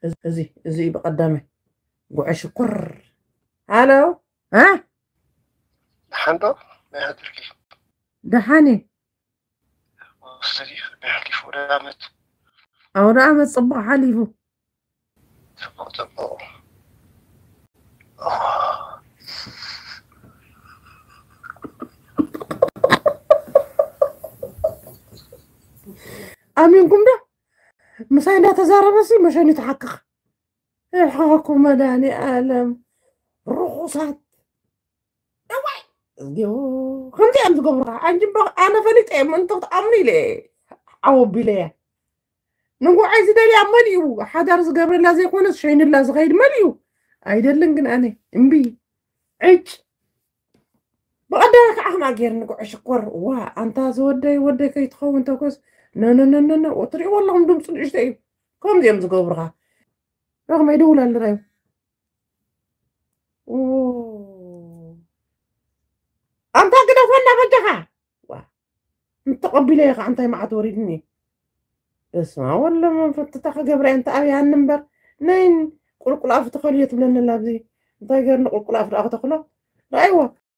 እዚ እዚ ብቐዳመ ጉዐ ሽኮር። ሃሎ። እ? ደሓን ዶ? ናይ ሃገርኪ? ደሓን እየ። ወስዲ ናይ ሓሊፉ ወደ ዓመት ኣውደ ዓመት ጽቡቕ ሓሊፉ። ጽቡቕ ጽቡቕ። ኣሚንኩም ዶ? ምሳይ እንዳተዛረበሲ መሸኒ ተሓቅቕ። እሕኹ መድኃኒዓለም ርኹሳት። እዋይ፣ እዚኦ፣ ከምዚ እዮም ዝገብሩኻ። ኣንቺ እምበ-፣ ኣነ ፈሊጠ እዮም፣ እንተ ክትኣምኑ ኢለ እየ፣ ዓው ኣቢለ እየ። ንጉዓይ ዝደልያ መሊኡ፣ ሓዳር ዝገብረላ ዘይኮነስ ሸይንላ ዝኸይድ መሊኡ። ኣይደልን ግን ኣነ፣ እምቢ። ዕጭ። ብቐዳመ ከዓ ከማ ገይርኒ ጉዕ ሽኮር። ዋ፣ ኣንታ ዝወደይ ወደይ ከይትኸውን ተኮስ። ነነነነነ፣ ትሪእዎ ኣለኹም ድምፁ ንእሽቶ እዩ። ከምዚ እዮም ዝገብሩኻ። ረኽመ ይደውል ኣሎ ራዩ። ኦ። ኣንታ ግደፈና በጃኻ። ዋ። እንተቐቢለ ኢኻ እንታይ መዓት ወሪድኒ። በስመ ኣብ ወወልድ ወመንፈስ፣ እታ ክገብራ እየ፣ እንተ ኣብያኒ እምበር። ነይን ቁልቁል ኣፉ ተኸልዮ ትብለኒ ኣላ ኣብዚ። እንታይ ገርኒ ቁልቁል ኣፉ ደኣ ክተኽሎ? ረኣይዎ።